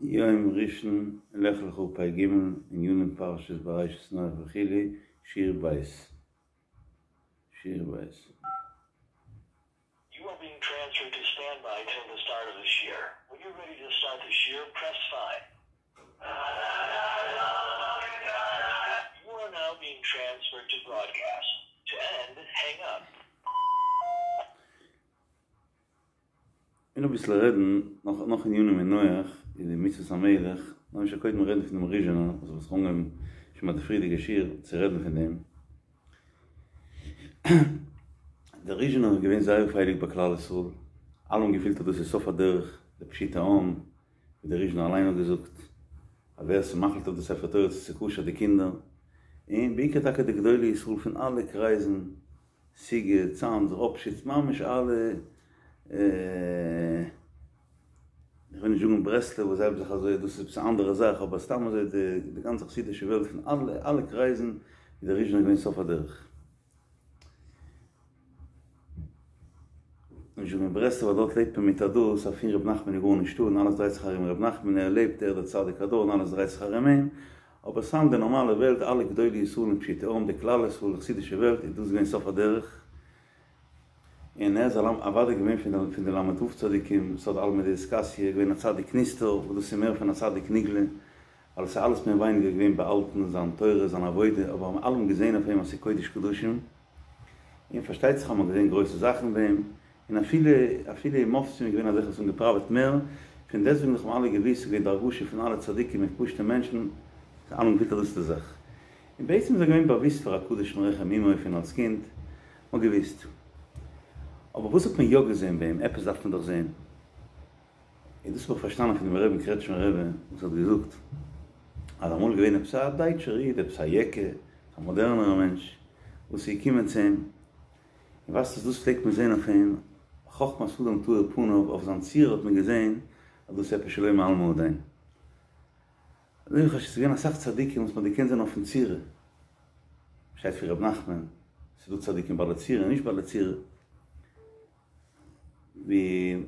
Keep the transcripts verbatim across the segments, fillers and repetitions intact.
יום ראשון לך לך פ ג ענינים פרשת בראשית נח וכו' שיעור ב' שיעור ב'. You are being transferred to standby till the start of the shiur. When you're ready to start the shiur, press five. You are now being transferred to broadcast. To end, hang up. און אביסל רעדן נאך נאך ענינים אין נח אין די מצוות המלך, לאמיר שוין קודם רעדן פון דעם ריזשינער וואס האט זיך אנגעהויבן שוין ביי די פריערדיגע שיעור צו רעדן פון דעם. דער ריזשינער איז געווען זייער הייליג ביי כלל ישראל, אלע האבן געפילט אז דאס איז סוף הדרך, די פשוטע עם, ווי דער ריזשינער אליין האט געזאגט, אז ווער ס'מחליט אויף די ספר תורה צו ס'כשר די קינדער, און בעיקר טאקע די גדולי ישראל פון אלע קרייזן, סיגוט, צאנז, ראפשיץ, ממש אלע, איך וויל נישט זאגן ברסלב וואס זיי האבן זיך אזוי, דאס איז עפעס א אנדערע זאך, אבער סתם אזוי די גאנצע חסידישע וועלט פון אלע אלע קרייזן איז דער ריזשינער געווען סוף הדרך. נישט זאגן ברסלב ווייל דארט לעבט מען מיט א דאס אז פון ר' נחמן איז גארנישטא און אלעס דרייט זיך ארום ר' נחמן, ער לעבט, ער איז דער צדיק הדור און אלעס דרייט זיך ארום אים, אבער סתם די נארמאלע וועלט, אלע גדולי ישראל און פשוטי עם, די כלל ישראל, די חסידישע וועלט, איז דאס געווען סוף הדרך, און ער איז אוודאי געווען פון די ל"ו צדיקים, סוד עלמא דאתכסיא, געווען א צדיק נסתר, וואס דאס איז מער פון א צדיק נגלה, ווייל עס איז אלעס מער ווייניגער געווען באהאלטן, זיין תורה, זיין עבודה, אבער האבן אלע געזען אויף אים אז ס'איז קודש קדשים, און פארשטייט זיך האט מען געזען גרויסע זאכן ביי אים, און אפילו אפילו אין מופתים איז געווען אזעלכע וואס האבן געפראוועט מער, פון דעסטוועגן האבן אלע געוואוסט ס'איז געווען די הרגשה פון אלע צדיקים און פשוטע מענטשן, זיי אלע האבן געפילט אז דאס איז די זאך. און בעצם איז ער געווען באוואוסט פאר א קדוש מרחם אמו פון אלס קינד, מ'האט געוואוסט. אבער וואס האט מען יא געזען ביי אים? עפעס דארף מען דאך זען. און דאס האב איך פארשטאנען פון דעם רבי'ן קרעטשמער רבי וואס האט געזאגט אז אמאל איז געווען עפעס א דייטשער איד, עפעס א יעקע, א מאדערנערע מענטש, וואס איז געקומען צו אים, און ווייסט וואס דאס פלעגט מען זען אויף אים, חכמת אדם תאיר פניו, אויף זיין צורה האט מען געזען אז דאס איז עפעס שלא מעלמא הדין. אזוי ווי ס'איז געווען אסאך צדיקים וואס מ'האט געקענט זען אויפן צורה, שטייט פון ר' נחמן, ס'איז דא צדיקים בעלי צורה און נישט בעלי צורה, ווי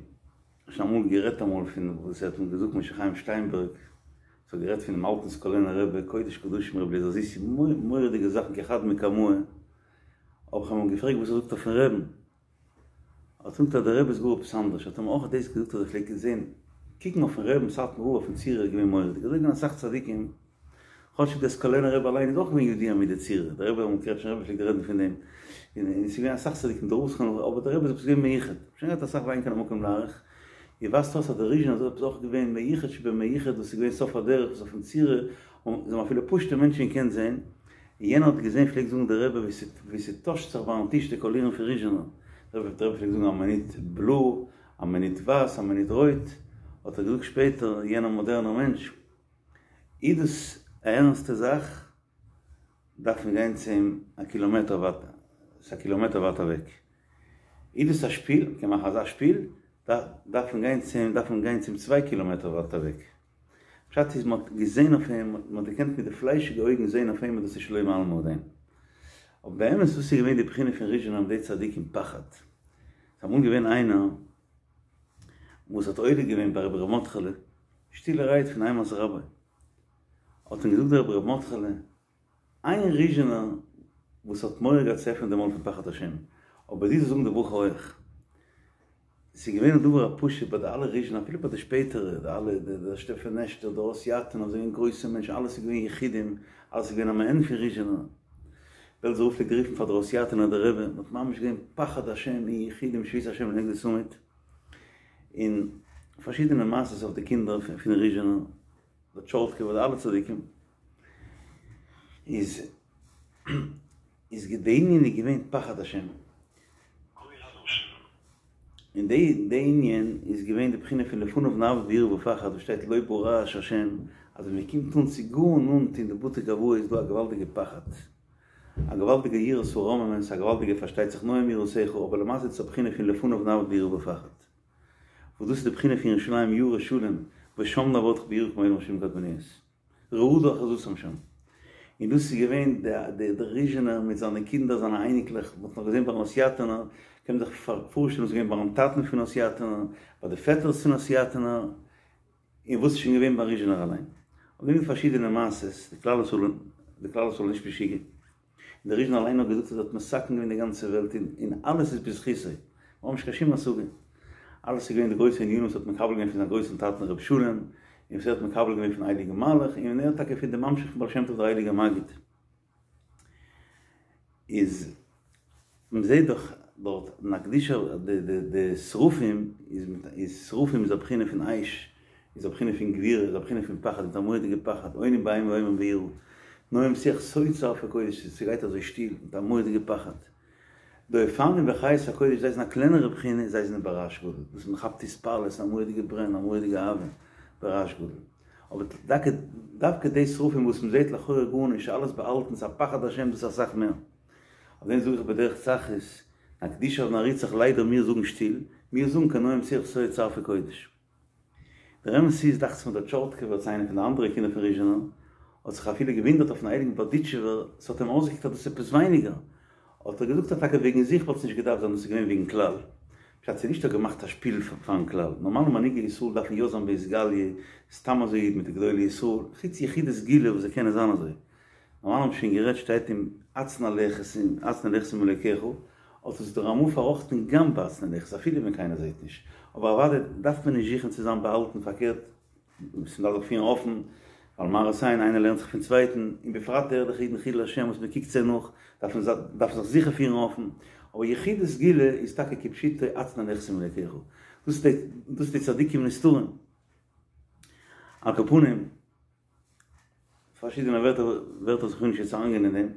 שוין אמאל גערעדט אמאל פון וואס ער האט מיר געזאגט משה חיים שטיינבערג, וואס האט גערעדט פונעם אלטן סקולענער רבי, קודש קדשים רבי אליעזר זיסי, מורא'דיגע זאכן כחד מקמאי, האב איך אים געפרעגט וואס ער זאגט אויפן רעבן, האט ער געזאגט אז דער רבי איז גאר עפעס אנדערש, האט ער מיר אויך דאס געזאגט אז ער פלעגט זען קוקן אויפן רעבן סאטמאר רב אויפן צורה איז געווען מורא'דיג, אזוי געווען אסאך צדיקים, כאטשיג דער סקולענער רבי אליין איז אויך געווען ידוע מיט די צורה, דער רבי ביים קרעטשמער רבי פלעגט רעדן פון דעם, און עס איז געווען אסאך צדיקים דער רב זכרונו לברכה, אבער דער רבי איז עפעס געווען מיוחד, שוין געהאט אסאך ואין כאן המקום להאריך, איר ווייזט אויס אז דער ריזשינער איז עפעס אויך געווען מיוחד שבמיוחד וואס איז געווען סוף הדרך וואס אויפן צורה האבן אפילו פשוטע מענטשן געקענט זען, און יענער האט געזען פלעגט זאגן דער רבי ווי ס'טוישט זיך ביים טיש די קאלירן פון ריזשינער, דער רבי פלעגט זאגן א מינוט בלוי, א מינוט ווייס, א מינוט רויט, האט ער געזאגט שפעטער יענער מאדערנער מענטש, איז דאס א ערנסטע זאך דארף מען גיין צו אים א קילאמעטער ווייט, ס'איז א קילאמעטער ווייט אוועק. איז דאס א שפיל, מ'קען מאכן אזא שפיל, דארף מען גיין צו אים, דארף מען גיין צו אים צוויי קילאמעטער ווייט אוועק. פשט איז מ'האט געזען אויף אים, מ'האט געקענט מיט די פליישיגע אויגן זען אויף אים אז דאס איז שלא מעלמא הדין. אבער באמת וואס איז געווען די בחינה פון ריזשינער מיט די צדיקים פחד. ס'איז אמאל געווען איינער וואס האט עולה געווען ביי רבי ר' מרדכי'לע, שטילערהייט פון אימת רבו, האט אים געזאגט דער רבי ר' מרדכי'לע, איין ריזשינער וואס האט מורא געהאט צו עפענען די מויל פון פחד השם, אבער דו זאלסט זאגן די ברכה אויך. ס'איז געווען א דבר הפשוט ביי די אלע ריזשינער, אפילו ביי די שפעטערע, די אלע, די שטעפענעשטער, די הוסיאטינער, זענען געווען גרויסע מענטשן, אלעס איז געווען יחידים, אלעס איז געווען א מעין פון ריזשינער. בעלזער רב פלעגט רופן פאר דער הוסיאטינער דער רבי, מ'האט ממש געזען פחד השם אין יחידים שויתי השם לנגדי תמיד, און פארשידענע מעשות אויף די קינדער פון ריזשינער, די טשורטקובער, די אלע צדיקים, איז איז די ענין איז געווען פחד השם. און די די ענין איז געווען די בחינה פון לפניו נעבוד ביראה ופחד וואס שטייט לא ברעש השם, אז ווען מען קומט אן צו גאר נאנט אין די בתי גבאי איז דא א געוואלדיגע פחד, א געוואלדיגע יראת הרוממות, א געוואלדיגע פארשטייט זיך נועם יראתך, אבער למעשה איז עס א בחינה פון לפניו נעבוד ביראה ופחד. וואס דאס איז די בחינה פון ירושלים ירא שלם ושם נעבדך ביראה כמו עולם שבעים קדמוניות. רעדה אחוזתם שם. און דאס איז געווען דער ריזשינער מיט זיינע קינדער זיינע אייניקלעך, מען האט נאך געזען ביים הוסיאטינער, קען מען זיך פארשטעלן וואס איז געווען ביים טאטן פון הוסיאטינער, ביי די פעטערס פון הוסיאטינער, און וואס איז שוין געווען ביים ריזשינער אליין. אויף דעם איז פארשידענע מעשות, די כלל ישראל די כלל ישראל איז נישט משוגע. און דער ריזשינער אליין האט געזאגט אז ער האט מתקן געווען די גאנצע וועלט און און אלעס איז בזכותו. מיר האבן נישט קיין שום השגה. אלעס איז געווען די גרויסע ענינים וואס ער האט מקבל געווען פון זיין גרויסן טאטן רבי שלום, און וואס ער האט מקבל געווען פון הייליגן מלאך, און ער טאקע פון די ממשיך פון בעל שם טוב דער הייליגער מגיד. איז מ'זעט דאך דארט אין הקדושה די די די שרפים איז מיט איז שרפים איז א בחינה פון אש, איז א בחינה פון גבורה, איז א בחינה פון פחד, מיט א מורא'דיגע פחד, עונים באימה ואומרים ביראה, נועם שיח סוד שרפי קודש, ס'גייט אזוי שטיל, מיט א מורא'דיגע פחד. די אופנים וחיות הקודש זיי זענען א קלענערע בחינה, זיי זענען ברעש גדול, וואס מ'כאפט התפעלות, א מורא'דיגע ברען, א מורא'דיגע אהבה, ברעש גדול. אבער דוקא דווקא די שרפים וואס מ'זעט לכאורה גארנישט, אלעס באהאלטן, ס'איז א פחד השם, דאס איז אסאך מער. אויף דעם זאג איך בדרך צחות, נקדישך ונעריצך ליידער מיר זאגן שטיל, מיר זאגן כנועם שיח סוד שרפי קודש. דער אמת איז, דאכט זיך מיר דער טשארטקעווער צו איינער פון די אנדערע קינדער פון ריזשינער, האט זיך אפילו געוואונדערט אויפן הייליגן בארדיטשובער, ס'האט אים אויסגעקוקט אז דאס איז עפעס ווייניגער, האט ער געזאגט אז טאקע וועגן זיך וואלט עס נישט געדארפט זיין, דאס איז געווען וועגן כלל. פשט ס'איז נישט ער האט געמאכט א שפיל פארן כלל, נארמאלע מנהיגי ישראל דארפן יא זיין באתגליא, סתם אזוי מיט די גדולי ישראל, חוץ יחידי סגולה וואס זיי קענען זיין אזוי. נארמאל האבן שוין גערעדט שטייט אם הצנע לכת עם הצנע לכת עם אלוקיך, האט עס דער רמ"א פארראכטן גם בהצנע לכת אפילו ווען קיינער זעט נישט, אבער אוודאי דארף מען נישט זוכן צו זיין באהאלטן פארקערט מ'דארף זיך פירן אפן, ווייל מראית עין איינער לערנט זיך פון צווייטן, און בפרט די ערליכע אידן חילול השם וואס מ'קוקט זיי נאך, דארף מען דארף זיך זיכער פירן אפן, אבער יחידי סגולה איז טאקע כפשוטו הצנע לכת עם אלוקיך, דאס איז די צדיקים נסתרים. על כל פנים. פארשידענע ווערטער ווערטער וואס איך וויל נישט יעצט אריינגיין אין דעם,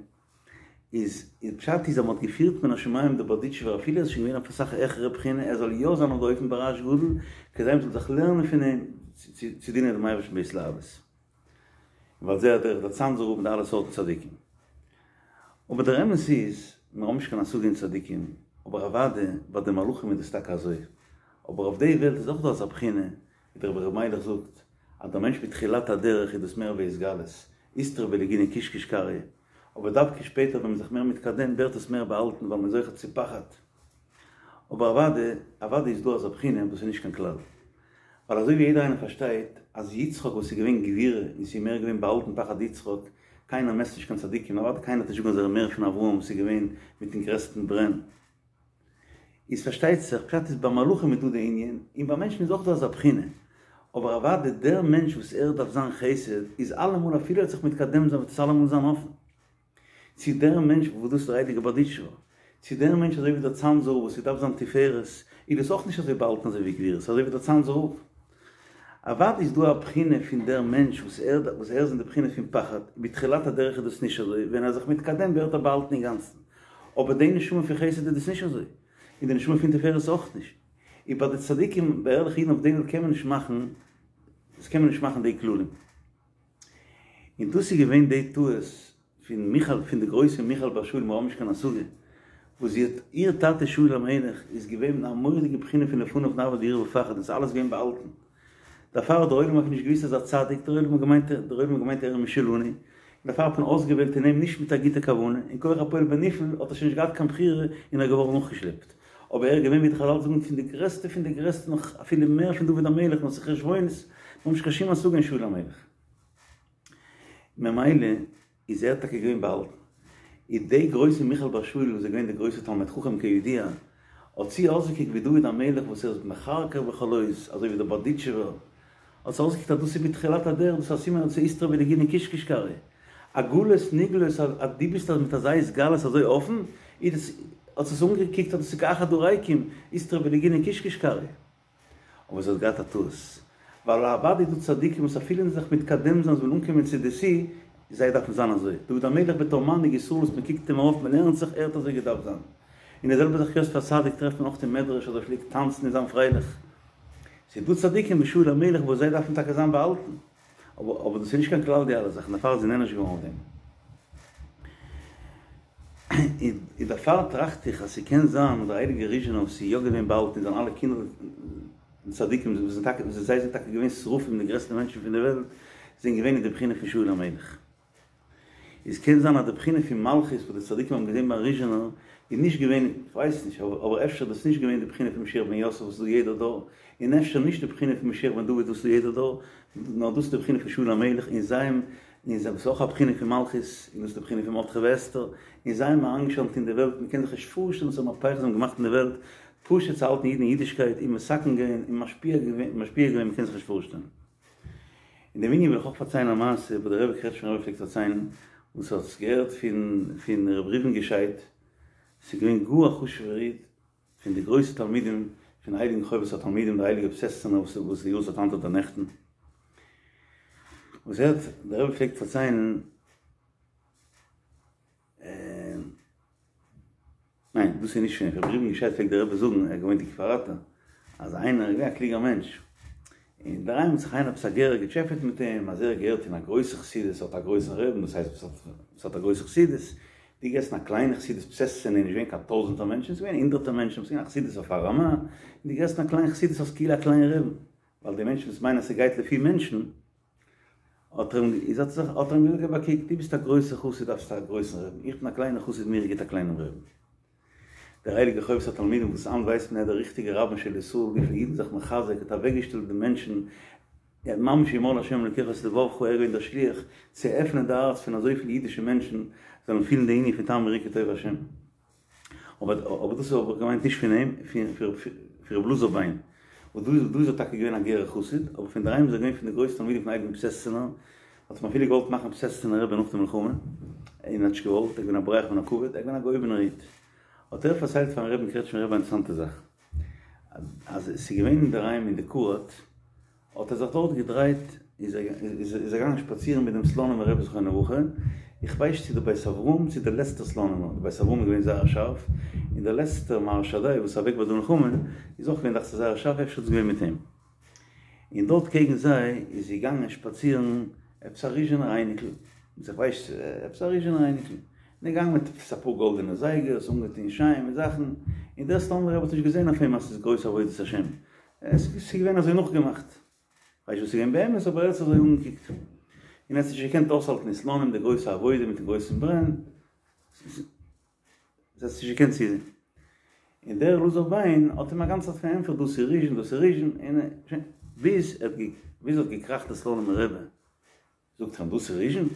איז איז פשט איז אז מען האט געפירט מן השמים די בארדיטשובער אפילו ער איז שוין געווען אויף אסאך העכערע בחינה ער זאל יא זיין אויף די אופן ברעש גדול כדי מען זאל זיך לערנען פון אים צו דינען דעם אייבערשטן בהתלהבות. ועל זה הדרך דער צאנזער רב מיט אלע סארטן צדיקים. אבער דער אמת איז, מיר האבן נישט קיין השגה אין צדיקים, אבער אוודאי ביי די מלאכים איז דאס טאקע אזוי, אבער אויף די וועלט איז אויך דא אזא בחינה, ווי דער רבי ר' מיילעך זאגט אז דער מענטש בתחילת הדרך איז דאס מער בהתגלות, אתרעי בלגינה קיש קיש קריא, אבער דווקא שפעטער ווען מען איז זיך מער מתקדם ווערט עס מער באהאלטן ווייל מען איז זוכה צו פחד. אבער אוודאי אוודאי איז דא אזא בחינה וואס איז נישט קיין כלל. ווייל אזוי ווי יעדער איינער פארשטייט אז יצחק וואס איז געווען גבורה און ס'איז מער געווען באהאלטן פחד יצחק, קיינער מעסט נישט קיין צדיקים, אוודאי קיינער האט נישט געזאגט אז ער איז מער פון אברהם וואס איז געווען מיטן גרעסטן ברען. איז פארשטייט זיך, פשט איז ביי מלאכים איז דא די ענין, און ביי מענטשן איז אויך דא אזא בחינה, אבער אוודאי דער מענטש וואס ער דארף זיין חסד איז אלעמאל אפילו ער וועט זיך מתקדם זיין וועט עס אלעמאל זיין אפן צו דער מענטש וואס דאס איז דער הייליגער בארדיטשובער, צו דער מענטש אזוי ווי דער צאנזער רב וואס ער דארף זיין תפארת, איז דאס אויך נישט אזוי באהאלטן אזוי ווי גבורות, אזוי ווי דער צאנזער רב. אוודאי איז דא א בחינה פון דער מענטש וואס ער וואס ער איז אין די בחינה פון פחד, בתחילת הדרך איז דאס נישט אזוי, ווען ער איז זיך מתקדם ווערט ער באהאלטן אינגאנצן, אבער די נשמה פון חסד איז דאס נישט אזוי, און די נשמה פון תפארת אויך נישט, און ביי די צדיקים ביי ערליכע אידן אויף די וועלט קען מען נישט מאכן, דאס קען מען נישט מאכן די כללים. און דאס איז געווען די טעות פון מיכל, פון די גרויסע מיכל בת שאול, מיר האבן נישט קיין השגה וואס זי האט, איר טאטע שאול המלך איז געווען אין א מורא'דיגע בחינה פון לפניו נעבוד ביראה ופחד און ס'איז אלעס געווען באהאלטן, דערפאר האט דער עולם אויך נישט געוואוסט אז ער איז א צדיק, דער עולם האט געמיינט דער עולם האט געמיינט ער איז משלנו, און דערפאר האט מען אויסגעוועלט אין אים נישט מיט א גוטע כוונה, און כח הפועל בנפעל האט ער שוין נישט געהאט קיין בחירה און ער איז געווארן נאכגעשלעפט, אבער ער איז געווען ווי די חזל זאגן פון די גרעסטע פון די גרעסטע נאך אפילו מער פון דוד המלך נאר ס'איז חשבונות, מיר האבן נישט קיין שום השגה אין שאול המלך. ממילא איז ער טאקע געווען באהאלטן. איז די גרויסע מיכל בת שאול וואס איז געווען די גרויסע תלמיד חכם כידוע, האט זי אויסגעקוקט ווי דוד המלך וואס ער איז מכרכר בכל עוז, אזוי ווי דער בארדיטשובער, האט זי אויסגעקוקט אז דאס איז מתחילת הדרך, דאס איז א סימן אז ס'איז אתרעי בלגינה קיש קיש קריא. א גלות נגלות אז דו ביסט מיט אזא התגלות אזוי אפן, איז דאס, האט זי עס אנגעקוקט אז דאס איז כאחד הריקים, אתרעי בלגינה קיש קיש קריא. אבער זי האט געהאט א טעות, ווייל אוודאי איז דא צדיקים וואס אפילו אין זיך מתקדם זיין זיי ווילן אנקומען צו די שיא, זיי דארפן זיין אזוי, דוד המלך בתור מנהיג ישראל וואס מען קוקט אים ארויף מען לערנט זיך ער האט אזוי געדארפט זיין, און די זעלבע זאך יוסף הצדיק טרעפט מען אויך אין מדרש אז ער פלעגט טאנצן און זיין פרייליך, ס'איז דא צדיקים ווי שאול המלך וואס זיי דארפן טאקע זיין באהאלטן, אבער אבער דאס איז נישט קיין כלל די אלע זאכן, דערפאר איז זי נענש געווארן אויף דעם. און דערפאר טראכט איך אז ס'קען זיין אז דער הייליגער ריזשינער וואס איז יא געווען באהאלטן און זיינע אלע קינדער צדיקים וואס זענען טאקע זיי זענען טאקע געווען שרפים די גרעסטע מענטשן פון די וועלט זענען געווען אין די בחינה פון שאול המלך. איז קען זיין אז די בחינה פון מלכות וואס די צדיקים האבן געזען ביים ריזשינער איז נישט געווען, איך ווייס נישט, אבער אפשר דאס נישט געווען די בחינה פון משיח בן יוסף וואס איז דא יעדער דור, און אפשר נישט די בחינה פון משיח בן דוד וואס איז דא יעדער דור, נאר דאס איז די בחינה פון שאול המלך, און זיי האבן, און זיי, וואס איז אויך א בחינה פון מלכות, און דאס איז די בחינה פון מרדכי ואסתר, און זיי האבן אריינגעשיינט אין די וועלט, מען קען זיך נישט פארשטעלן וואס א מהפכה זיי האבן געמאכט אין די וועלט, פשוט צו האלטן אידן אין אידישקייט, און מתקן געווען, און משפיע געווען, משפיע געווען, מען קען זיך נישט פארשטעלן. אין דעם ענין וויל איך אויך פארציילן א מעשה וואס דער רבי קרעטשמער רבי פלעגט פארציילן, וואס ער האט עס געהערט פון פון ר' ראובן געשייד, ס'איז געווען גאר א חשוב'ער איד, פון די גרויסע תלמידים פון הייליגן חובת התלמידים דער הייליגער פיאסעצנער וואס וואס די יארצייט היינט אדער נעכטן, וואס ער האט, דער רבי פלעגט פארציילן, ניין, דאס איז נישט פון ר' ראובן געשייד פלעגט דער רבי זאגן, ער האט געוואוינט אין כפר אתא, אז איינער איז געווען א קלוגער מענטש, און אינדערהיים האט זיך איינער עפעס א גערער געטשעפעט מיט אים, אז ער געהערט אין א גרויסע חסידות, האט א גרויסן רבי'ן, דאס הייסט וואס האט א גרויסע חסידות, דו געהערסט אין א קליינע חסידות פיאסעצנע איז נישט געווען קיין טויזענטער מענטשן, ס'איז געווען הונדערטער מענטשן, ס'איז געווען א חסידות אויף א רמה, און דו געהערסט אין א קליין חסידות האסט כאילו א קליין רבי'ן, ווייל די מענטשן וואס מיינען אז ס'גייט לפי מענטשן, האט ער אים איז האט זיך האט ער אים געזאגט געב א קוק, דו ביסט א גרויסער חסיד דארפסטו א גרויסן רבי'ן, איך בין א קליינער חסיד מיר איז גוט א קליינעם רבי'ן. דער הייליגער חובת התלמידים וואס היינט ווייסט מען ער איז דער ריכטיגער רבן של ישראל וויפיל אידן זיך מחזק האט אוועקגעשטעלט די מענטשן ער האט ממש ימלא השם אלוקיך את לבבך ער איז געווען דער שליח צו עפענען די הארץ פון אזויפיל אידישע מענטשן זאלן פילן די ענין פון טעמו וראו כי טוב השם. אבער אבער דאס האב איך געמיינט נישט פון אים, פון ר' אלעזר ביין, וואס דא איז דא איז ער טאקע געווען א גערער חסיד, אבער פון דערהיים איז ער געווען פון די גרויסע תלמידים פון הייליגן פיאסעצנער, האט אים אפילו געוואלט מאכן פיאסעצנער רבי נאך די מלחמה, און ער האט נישט געוואלט, ער איז געווען א בורח מן הכבוד, ער איז געווען א געהויבענער איד. האט ער פארציילט פארן רבי'ן קרעטשמער רבי א אינטערעסאנטע זאך, אז עס איז געווען אינדערהיים אין די קוראט, האט ער זיך דארט געדרייט, איז ער איז ער געגאנגען שפאצירן מיט דעם סלאנימער רבי זכרונו לברכה, איך ווייס נישט צו דער בית אברהם צו דער לעצטער סלאנימער, דער בית אברהם איז געווען זייער שארף, און דער לעצטער מהר"ש שדי וואס איז אוועק ביי די מלחמה איז אויך געווען דאכט זיך זייער שארף, אפשר איז עס געווען מיט אים. און דארט קעגן זיי איז געגאנגען שפאצירן עפעס א ריזשינער אייניקל, איך ווייס עפעס א ריזשינער אייניקל, און ער געגאנגען מיט עפעס אפאר גאלדענע זייגערס, אנגעטון שיין מיט זאכן, און דער סלאנימער רבי האט נישט געזען אויף אים אז ס'איז גרויס עבודת השם, עס איז געווען אזוי נאכגעמאכט, כ'ווייס נישט וואס איז געווען באמת אבער ער האט עס אזוי אנגעקוקט, און ער האט נישט געקענט אויסהאלטן אין סלאנים די גרויסע עבודה מיטן גרויסן ברען, ער האט עס נישט געקענט צוזען, און דער אלעזר ביין האט אים א גאנצע צייט פארענטפערט דאס איז ריזשין דאס איז ריזשין, און שוין, ביז ער ביז ער האט געקראכט די סלאנימער רבי, זאגט ער אים דאס איז ריזשין?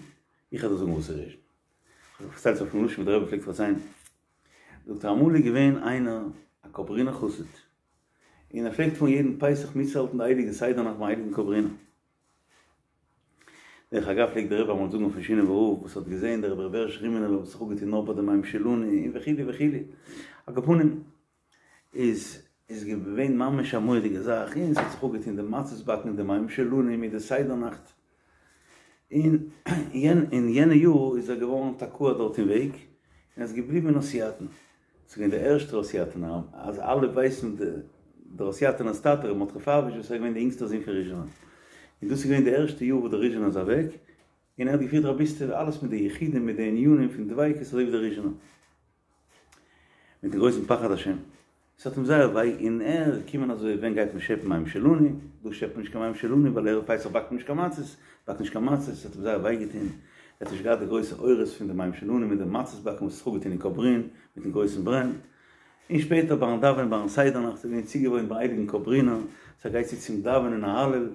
איך וועל דיר זאגן וואס איז ריזשין, כ'האב פארציילט אויפן לשון ווי דער רבי פלעגט פארציילן, זאגט ער אמאל איז געווען איינער א קאברינער חסיד, און ער פלעגט פארן יעדן פסח מיטצוהאלטן די הייליגע סדר נאכט ביים הייליגן קאברינער. דרך אגב פלעגט דער רבי אמאל זאגן אויפן שינאווער רב וואס האט געזען דער רבי ר' בעריש רימינובער וואס האט זיך אפגעטון נאר ביי די מים שלנו און וכו' וכו' על כל פנים איז איז געווען ממש א מורא'דיגע זאך און ס'האט זיך אפגעטון די מצות באקן און די מים שלנו מיט די סדר נאכט און אין יענע יאר איז ער געווארן תקוע דארט אין וועג און ער איז געבליבן אין הוסיאטין. ס'איז געווען דער ערשטער הוסיאטינער, אז אלע ווייסן דער הוסיאטינער'ס טאטע ר' מרדכי פייוויש וואס איז געווען דער אינגסטער זון פון ריזשינער, און דאס איז געווען די ערשטע יאר וואס דער ריזשינער איז אוועק, און ער האט געפירט רביסטעווע אלעס מיט די יחודים מיט די ענינים פון דביקות אזוי ווי דער ריזשינער, מיטן גרויסן פחד השם. ס'האט אים זייער וויי און ער איז געקומען אזוי ווען גייט מען שעפן מים שלנו, דא שעפט מען נישט קיין מים שלנו ווייל ערב פסח באקט מען נישט קיין מצות, באקט נישט קיין מצות, ס'האט אים זייער וויי געטון, ער האט נישט געהאט די גרויסע אורות פון די מים שלנו מיט די מצות באקן וואס האט זיך אפגעטון אין קאברין מיטן גרויסן ברען, און שפעטער ביים דאווענען ביים סדר נאכט איז געווען צוגעוואוינט ביים הייליגן קאברינער, ס'גייט צו צום דאווענען א הלל,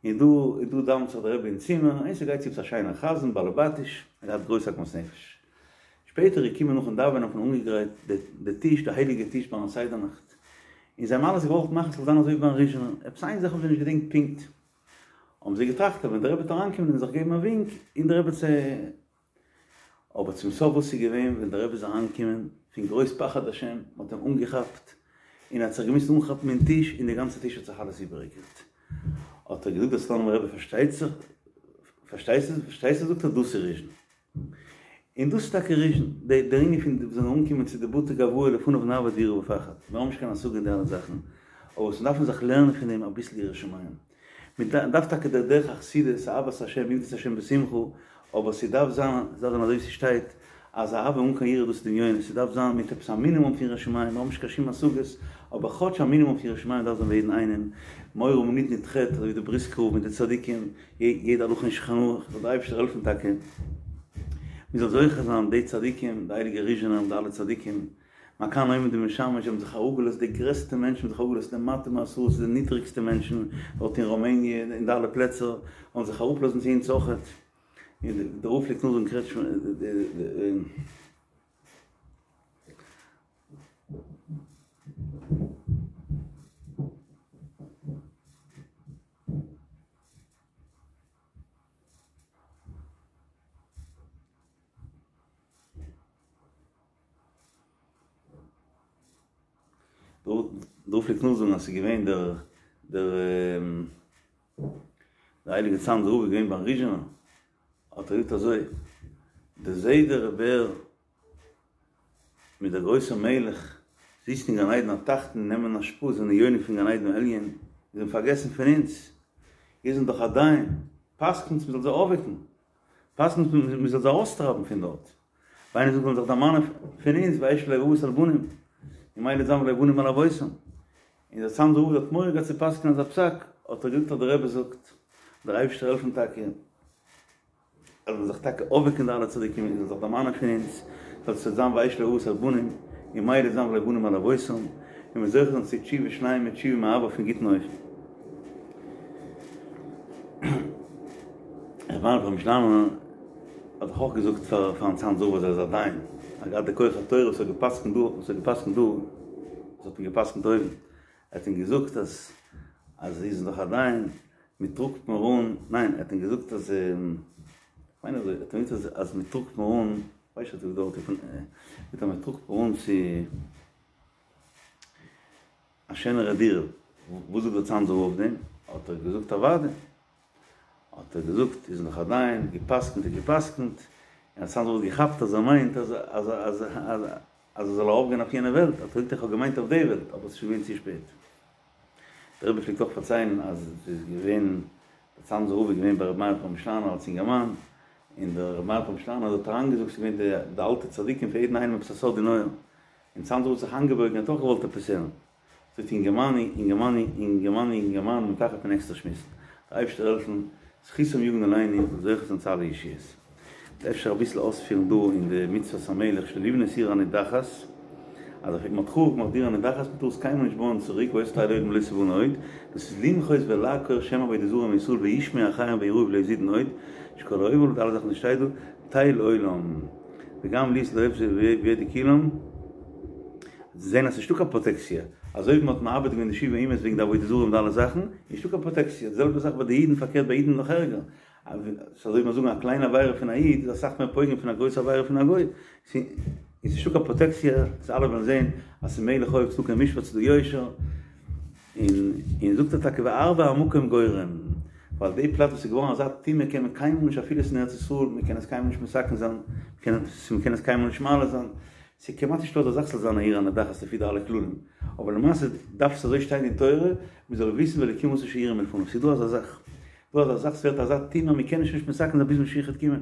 און דא און דא דאווענט זיך דער רבי אין צימער, און ס'גייט צו עפעס א שיינער חזן באלעבאטיש, ער האט געהאט גרויס עגמת נפש. שפעטער איז געקומען נאכן דאווענען האט מען אנגעגרייט די טיש, די הייליגע טיש ביים סדר נאכט, און זיי האבן אלעס געוואלט מאכן ס'זאל זיין אזוי ווי ביים ריזשינער, עפעס איין זאך האבן זיי נישט געדענקט פונקט, האבן זיי געטראכט אז ווען דער רבי וועט אריינקומען און זיך געבן א ווינק און דער רבי צו. אבער צום סוף וואס איז געווען ווען דער רבי איז אריינגעקומען, פון גרויס פחד השם, מ'האט אים אנגעכאפט, און ער האט זיך געמוזט אנכאפן אין טיש, און די גאנצע טיש האט זיך אלעס איבערגעקערט. האט ער געזאגט דער סלאנימער רבי פארשטייט זיך, פארשטייסטו, פארשטייסטו זאגט ער דאס איז ריזשין. און דאס איז טאקע ריזשין, דער ענין פון וואס זענען אנגעקומען צו די בתי גואי לפניו נעבוד ביראה ופחד, מיר האבן נישט קיין השגה אין די אלע זאכן, אבער וואס מיר דארפן זיך לערנען פון דעם אביסל יראת שמים. מען דארף טאקע דער דרך החסידות, אהבת השם עבדו את השם בשמחה, אבער ס'דארף זיין, ס'דארף זיין אזוי ווי ס'שטייט, אז אהבה אן קיין יראה דאס איז דמיונות, ס'דארף זיין מיט עפעס א מינימום פון יראת שמים, מיר האבן נישט קיין שום השגות, אבער כאטש א מינימום פון יראת שמים דארף זיין ביי יעדן איינעם, מורא מנידני תחת, אזוי ווי די בריסקער רב מיט די צדיקים, יעדע הלכה אין שולחן ערוך, זאל דער אייבערשטער העלפן טאקע מיר זאל זוכה זיין די צדיקים, די הייליגע ריזשינער און די אלע צדיקים, מה כאן עומד ומשמש, זיי האבן זיך אראפגעלאזט, די גרעסטע מענטשן האבן זיך אראפגעלאזט למטה מעשרה, צו די נידריגסטע מענטשן דארט אין ראמעניע, אין די אלע פלעצער, האבן זיך אראפלאזן צו אונז אויכעט. און דער רב פלעגט נאכזאגן קרעטשמע די. דער רב פלעגט נאכזאגן אז ס'איז געווען דער דער דער הייליגער צאנזער רב איז געווען ביים ריזשינער, האט ער געזאגט אזוי, דער זיידע ר' בער מיט דער גרויסער מלך זיצן אין גן עדן התחתון און נעמען השפעה זענען יונק פון גן עדן העליון, זיי האבן פארגעסן פון אונז, איר זענט דאך א דיין, פסק'נטס מ'זאל זיי אויפוועקן, פסק'נטס מ'זאל זיי ארויסטרייבן פון דארט, וויינען זאגט מען זיך דערמאנען פון אונז וישב לב אבות על בנים, ממילא זיין ולא בנים על אבותם, און דער צאנזער רב האט מורא געהאט צו פסק'נען אזא פסק, האט ער געזאגט אז דער רבי זאגט, דער אייבערשטער העלפן טאקע. אז זאלן זיך טאקע אויפוועקן די אלע צדיקים און זאלן זיך דערמאנען פון אונז, זאל עס זיין וישב לב אבות על בנים, און ממילא זיין ולא בנים על אבותם, און מיר זוכה זיין צו תשובה שלימה, תשובה מאהבה אויפן גוטן אופן. ר' מאיר פרעמישלאנער האט דאך אויך געזאגט פאר פארן צאנזער רב אז ער איז א דיין, ער האט געהאט די כח התורה וואס ער האט גע'פסק'נט דא, וואס ער האט גע'פסק'נט דא, וואס האט מען גע'פסק'נט אויבן, ער האט אים געזאגט אז אז איר זענט דאך א דיין, מען טראגט מיר אן, ניין ער האט אים געזאגט אז, כ'מיין אזוי, ער האט אים געזאגט אז מען טראגט מיר אן, כ'ווייס נישט אויב דארט איז אז מען טראגט מיר אן צו א שענערע דירה, וואס זאגט דער צאנזער רב אויף דעם? האט ער געזאגט אוודאי, האט ער געזאגט איז נאך א דיין, גע'פסק'נט איז גע'פסק'נט, און דער צאנזער רב האט געכאפט אז ער מיינט אז אז אז אז ער זאל ארויפגיין אויף יענע וועלט, האט ער געזאגט איך האב געמיינט אויף די וועלט, אבער עס איז שוין געווען צו שפעט. דער רבי פלעגט אויך פארציילן אז עס איז געווען, דער צאנזער רב איז געווען ביי רבי מאיר פרעמישלאנער אלס אינגערמאן, און דער רבי מאיר פרעמישלאנער האט אריינגעזאגט, ס'איז געווען די די אלטע צדיקים פאר יעדן איינעם עפעס א סוד אין אויער, און צאנזער רב האט זיך איינגעבויגן ער האט אויך געוואלט עפעס הערן, זאגט אינגערמאן, אינגערמאן, אינגערמאן, אינגערמאן, מען דארף עפעס עקסטער שמועסן, דער אייבערשטער העלפן, זכותם יגן עלינו, זוכה זיין צו אלע ישועות. אפשר אביסל אויספירן דא אין די מצוות המלך שלא לבנות עיר הנידחת, אז אויב מ'האט חרוב געמאכט די עיר הנידחת מ'טאר עס קיינמאל נישט בויען צוריק והיתה תהא לעולם ולא תבנה עוד, דאס איז למחות ולעקור שם עבודה זרה מישראל וישמעו אחרים ויראו ולא יזידון עוד, שכל העובר די אלע זאכן וואס שטייט דא, בטל עולם, וגם להיות לאויב וידעו כולם, זעהן אז ס'נישטא קיין פראטעקציע, אזוי ווי מ'האט מאבד געווען די שבעה אומות וועגן די עבודה זרה און די אלע זאכן, נישטא קיין פראטעקציע, די זעלבע זאך ביי די אידן פארקערט ביי אידן נאך ערגער, ס'איז אזוי ווי מיר זאגן א קליינע עבירה פון א איד איז אסאך מער פוגם פון א גרויסע עבירה פון א גוי, ס'איז נישטא קיין פראטעקציע, צו אלע וועלן זען אז ס'איז מלך אוהב צדקה ומשפט ס'איז דא יושר, און און זאגט ער טאקע והרבה המקום גורם, ווייל די פלאץ וואס איז געווארן אזא טומאה קען מען קיינמאל נישט אפילו ס'איז אין ארץ ישראל, מען קען עס קיינמאל נישט מתקן זיין, מען קען עס קיינמאל נישט מעלה זיין, ס'איז כמעט נישטא אזא זאך ס'זאל זיין א עיר הנדחת לפי די אלע כללים, אבער למעשה דארף עס אזוי שטיין אין תורה, מען זאל וויסן ואלקים עשה שיראו מלפניו, ס'איז דא אזא זאך. דא אזא זאך ס'ווערט אזא טומאה מ'קען עס נישט מתקן זיין ביז משיח וועט קומען.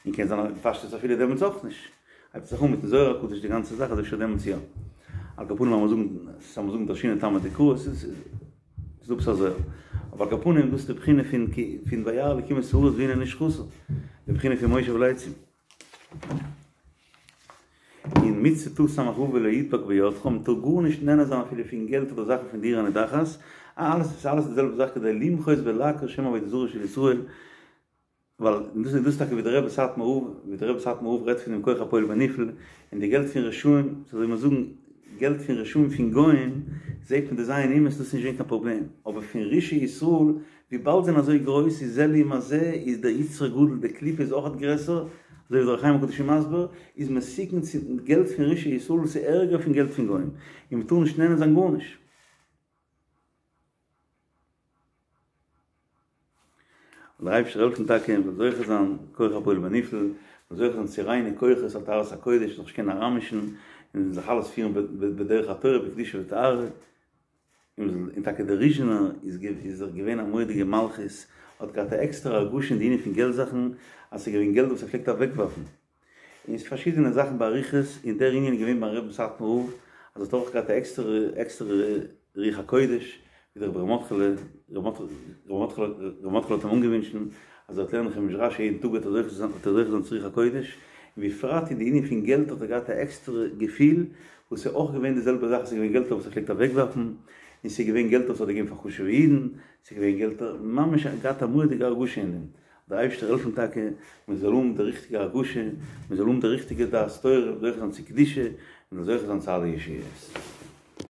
און קען זיין אז בפשטות אפילו דעמאלטס אויך נישט. הייבט זיך אן מיטן זוהר הקדוש די גאנצע זאך אז אפשר דעמאלטס יא. על כל פנים לאמיר זאגן לאמיר זאגן דרשינן טעמא דקרא עס איז דא עפעס א זוהר. אבער על כל פנים דאס איז די בחינה פון פון וירא אלקים את הארץ והנה נשחתה. די בחינה פון מושב לצים. און מצוה תס"ו ולא ידבק בידך, מען טאר גארנישט נהנה זיין אפילו פון געלט אדער זאכן פון די עיר הנידחת, אלעס איז אלעס די זעלבע זאך כדי למחות ולעקור שם עבודה זרה של ישראל, ווייל דאס איז דאס טאקע ווי דער רבי סאטמאר רב, ווי דער רבי סאטמאר רב רעדט פון דעם כח הפועל בנפעל, און די געלט פון רשעים, אזוי ווי מיר זאגן, געלט פון רשעים פון גוים, זעט מען די ז' אומות דאס איז נישט געווען קיין פראבלעם, אבער פון רשעי ישראל, וויבאלד זענען אזוי גרויס איז זה לעומת זה איז דער יצר גדול די קליפה איז אויכעט גרעסער, אזוי ווי דער אור החיים הקדוש איז מסביר, איז מסוכן צו געלט פון רשעי ישראל וואס איז ערגער פון געלט פון גוים, און מ'טאר נישט נהנה זיין גארנישט. זאל דער אייבערשטער העלפן טאקע מ'זאל זוכה זיין כח הפועל בנפעל, מ'זאל זוכה זיין צו ריינע כוחות על טהרת הקודש, זיך נישט קענען אריינמישן, און זיך אלעס פירן בדרך התורה בקדושה וטהרה. און טאקע דער ריזשינער איז איז דאך געווען א מורא'דיגע מלכות, האט געהאט א עקסטערע הרגשה אין די ענין פון געלט זאכן, אז ס'איז געווען געלט וואס ער פלעגט אוועקווארפן, און פארשידענע זאכן באריכות, און דער ענין איז געווען ביים רבין סאטמאר רב, אז ער האט אויך געהאט א עקסטערע עקסטערע רוח הקודש, ווי דער רבי ר' מרדכי'לע, ר' מרדכי'לע האט אים אנגעווינטשן אז ער וועט לערנען חומש רשי יעדן טאג וועט ער זוכה זיין וועט ער זוכה זיין צו רוח הקודש, בפרט אין די ענין פון געלט האט ער געהאט א עקסטערע געפיל, וואס איז אויך געווען די זעלבע זאך, ס'איז געווען געלטער וואס ער פלעגט אוועקווארפן, און ס'איז געווען געלטער וואס ער האט געגעבן פאר חשוב'ע אידן, ס'איז געווען געלטער, ממש ער האט געהאט א מורא'דיגע הרגשה אין דעם. דער אייבערשטער העלפן טאקע מען זאל האבן די ריכטיגע הרגשה, מען זאל האבן די ריכטיגע דעת תורה, זוכה זיין צו קדושה, און זוכה זיין צו אלע ישועות.